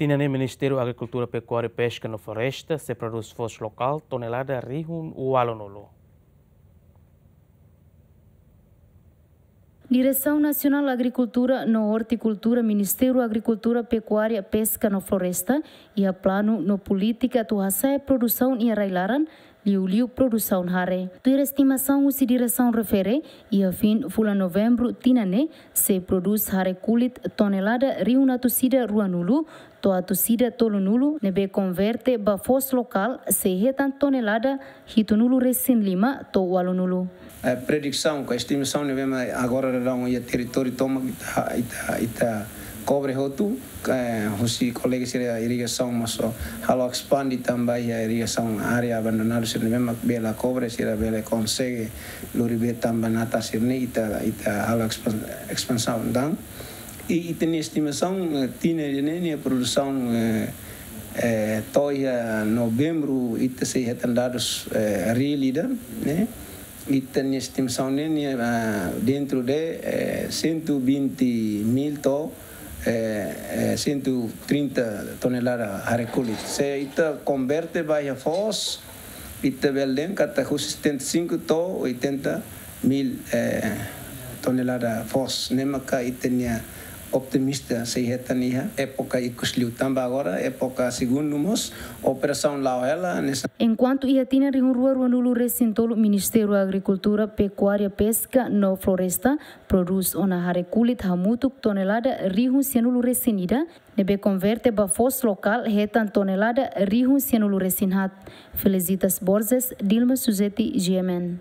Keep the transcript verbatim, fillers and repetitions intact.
Tinan ne'e Ministériu Agrikultura, Pekuária, Peska no Floresta sei prodús foos lokál tonelada rihun ualunulu. Diresaun Nasionál Agrikultura no Ortikultura, Ministériu Agrikultura, Pekuária, Peska no Floresta, iha planu no polítika atu hasa'e produsaun iha rai-laran, liuliu produsaun hare. Tuir estimasaun husi diresaun refere, iha fin fulan Novembru tinan ne'e sei prodús hare kulit tonelada rihun atus ida ruanulu to'o atus ida tolunulu, ne'ebé konverte ba foos lokál sei hetan tonelada hitunulu resin lima to'o ualunulu. Eh, predisaun ka estimasaun ne'ebé mak agora daudaun iha territóriu tomak ita, ita, ita kobre hotu, eh, husi kolega sira irrigasaun mós halo espande tanba iha irrigasaun área abandonadu sira ne'ebé mak bele kobre, sira bele konsege lori bee tanba natar sira-ne'e, ita, ita halo espan-, espansaun dan. I ita-nia estimasaun, eh, tinan ida-ne'e nia produsaun, eh, eh, to'o iha Novembru ita sei hetan dadus, eh, reál ida, ne'e. Ita-nia estimasaun ne'e nia, ah, dentro de, eh, cento e vinte mil to'o, eh, eh, cento e trinta tonelada hare kulit. Se ita konverte ba iha foos, ita bele dehan katak husi setenta e cinco to'o oitenta mil, eh, tonelada foos. Ne'e maka ita-nia otimista sei hetan iha époka ikus liu tanba agora époka segundu mós operasaun la'o hela hanesan. Enkuantu iha tinan rihun rua ruanulu resin tolu Ministériu Agrikultura, Pekuária, Peska no Floresta prodús ona hare kulit hamutuk tonelada rihun sianulu resin ida, ne'ebé konverte ba foos lokál hetan tonelada rihun sianulu resin haat. Felicitas Borges, Dilma Suzeti, G M N.